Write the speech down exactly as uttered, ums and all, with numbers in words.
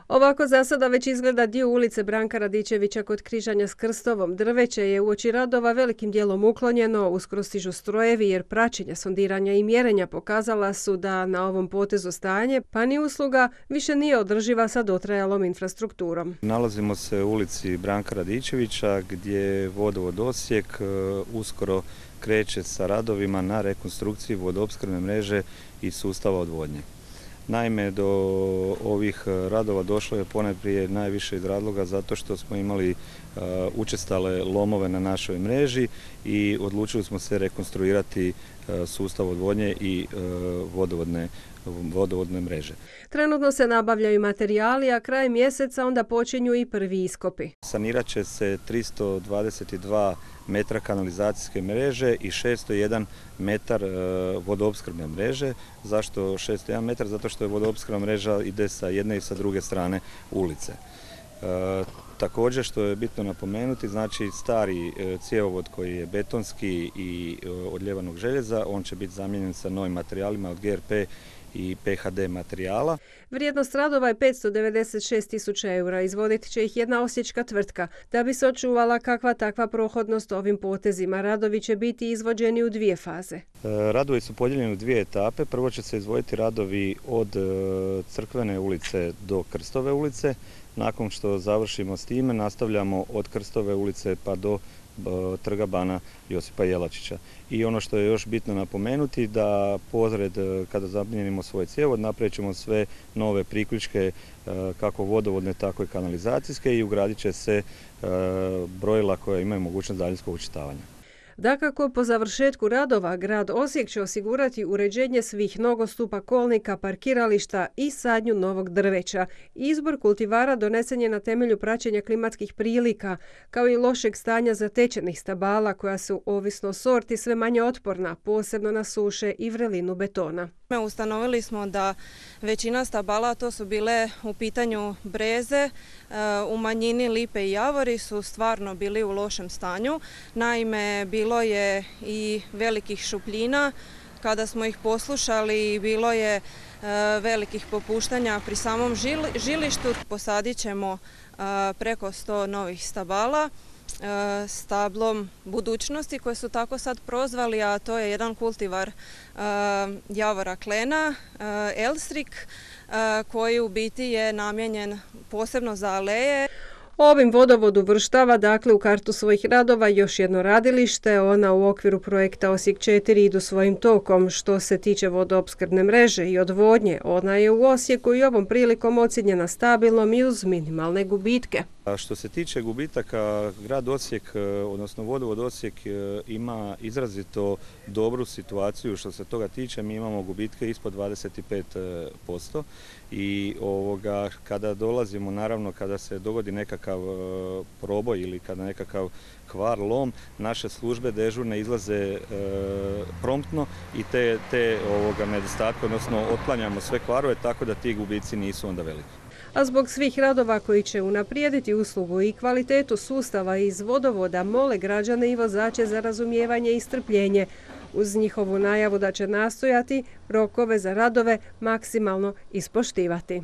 Ovako za sada već izgleda dio ulice Branka Radičevića kod križanja s Krstovom. Drveće je uoči radova velikim dijelom uklonjeno, uskoro stižu strojevi jer praćenja, sondiranja i mjerenja pokazala su da na ovom potezu stanje, pa ni usluga više nije održiva sa dotrajalom infrastrukturom. Nalazimo se u ulici Branka Radičevića gdje vodovod Osijek uskoro kreće sa radovima na rekonstrukciji vodoopskrbne mreže i sustava odvodnje. Naime, do ovih radova došlo je ponajprije najviše iz razloga zato što smo imali uh, učestale lomove na našoj mreži i odlučili smo se rekonstruirati uh, sustav odvodnje i uh, vodovodne, vodovodne mreže. Trenutno se nabavljaju materijali, a kraj mjeseca onda počinju i prvi iskopi. Sanirat će se tristo dvadeset dva metra kanalizacijske mreže i šesto jedan metar vodoopskrbne mreže. Zašto šesto jedan metar? Zato što je vodoopskrbna mreža ide sa jedne i sa druge strane ulice. E, također što je bitno napomenuti, znači stari cjevovod koji je betonski i od ljevanog željeza, on će biti zamijenjen sa novim materijalima od G R P i P H D materijala. Vrijednost radova je petsto devedeset šest tisuća eura. Izvodit će ih jedna osječka tvrtka. Da bi se očuvala kakva takva prohodnost ovim potezima, radovi će biti izvođeni u dvije faze. Radovi su podijeljeni u dvije etape. Prvo će se izvoditi radovi od Crkvene ulice do Krstove ulice. Nakon što završimo s time, nastavljamo od Krstove ulice pa do Trga bana Josipa Jelačića. I ono što je još bitno napomenuti da pozred kada zamijenimo svoj cjevovod napravit ćemo sve nove priključke kako vodovodne tako i kanalizacijske i ugradit će se brojila koja imaju mogućnost daljinskog očitavanja. Dakako, po završetku radova grad Osijek će osigurati uređenje svih nogostupa, kolnika, parkirališta i sadnju novog drveća. Izbor kultivara donesen je na temelju praćenja klimatskih prilika, kao i lošeg stanja zatečenih stabala koja su, ovisno o sorti, sve manje otporna, posebno na suše i vrelinu betona. Ustanovili smo da većina stabala, to su bile u pitanju breze, u manjini lipe i javori, su stvarno bili u lošem stanju. Naime, bilo je i velikih šupljina. Kada smo ih poslušali, bilo je velikih popuštanja pri samom žilištu. Posadit ćemo preko sto novih stabala stablom budućnosti koje su tako sad prozvali, a to je jedan kultivar javora klena, Elstrik, koji u biti je namijenjen posebno za aleje. Ovim vodovod uvrštava dakle u kartu svojih radova još jedno radilište. Ona u okviru projekta Osijek četiri idu svojim tokom. Što se tiče vodoopskrbne mreže i odvodnje, ona je u Osijeku i ovom prilikom ocijenjena stabilnom i uz minimalne gubitke. A što se tiče gubitaka, grad Osijek, odnosno vodovod Osijek ima izrazito dobru situaciju što se toga tiče. Mi imamo gubitke ispod dvadeset pet posto i ovoga, kada dolazimo, naravno kada se dogodi nekakav proboj ili kada nekakav kvar, lom, naše službe dežurne izlaze e, promptno i te, te ovoga, nedostatke, odnosno otklanjamo sve kvarove tako da ti gubici nisu onda veliki. A zbog svih radova koji će unaprijediti uslugu i kvalitetu sustava iz vodovoda, mole građane i vozače za razumijevanje i strpljenje, uz njihovu najavu da će nastojati rokove za radove maksimalno ispoštivati.